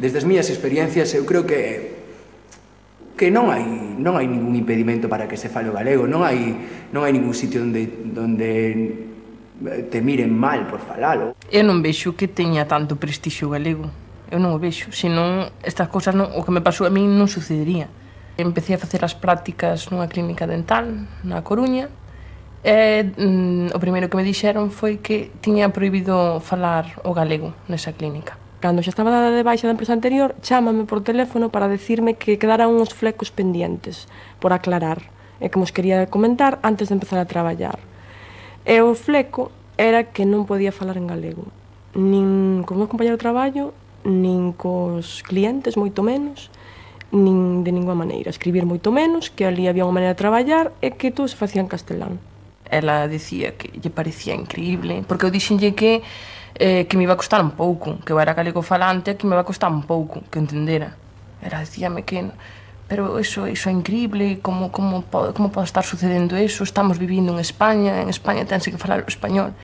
Desde as miñas experiencias, eu creo que non hai ningún impedimento para que se fale o galego, non hai ningún sitio onde te miren mal por falalo. Eu non vexo que teña tanto prestixio galego. Eu non o vexo, senón estas cousas o que me pasou a min non sucedería. Empecé a facer as prácticas nunha clínica dental na Coruña e o primeiro que me dixeron foi que tiña prohibido falar o galego nesa clínica. Cando xa estaba dada de baixa da empresa anterior, chámame por teléfono para decirme que quedaran uns flecos pendientes por aclarar e que mos quería comentar antes de empezar a traballar. E o fleco era que non podía falar en galego, nin cos meus compañeros de traballo, nin cos clientes, moito menos, nin de ninguna maneira. Escribir moito menos, que ali había unha maneira de traballar e que todo se facía en castelán. Ela dicía que lle parecía increíble, porque eu dixenlle que me iba a costar un pouco, que eu era galego falante e que me iba a costar un pouco que entendera. Ela dicíame que pero eso é increíble, como pode estar sucedendo eso, estamos vivindo en España tense que falar o español.